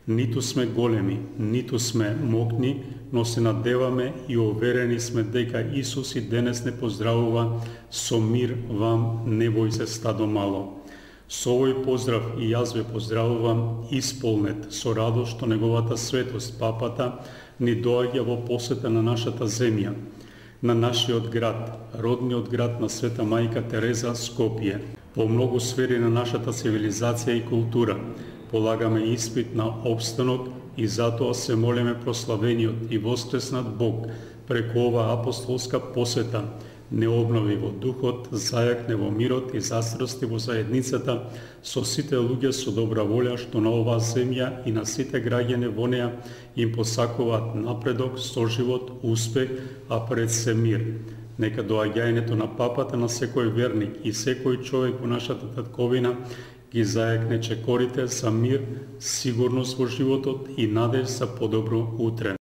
Ниту сме големи, ниту сме мокни, но се надеваме и уверени сме дека Исус и денес не поздравува со мир вам, не бој се стадо мало. Со овој поздрав и јас ве поздравувам исполнет со радост што неговата светост, папата, ни доаѓа во посета на нашата земја, на нашиот град, родниот град на Света Мајка Тереза, Скопје. По многу сфери на нашата цивилизација и култура полагаме испит на опстанок и затоа се молиме прославениот и воскреснат Бог преку оваа апостолска посета не обнови во духот, зајакне во мирот и застрасти во заедницата со сите луѓе со добра волја што на оваа земја и на сите граѓани во неа им посакуваат напредок, соживот, успех, а пред се мир. Нека доаѓањето на папата на секој верник и секој човек во нашата татковина ги зајакне чекорите за мир, сигурност во животот и надеж за подобро утре.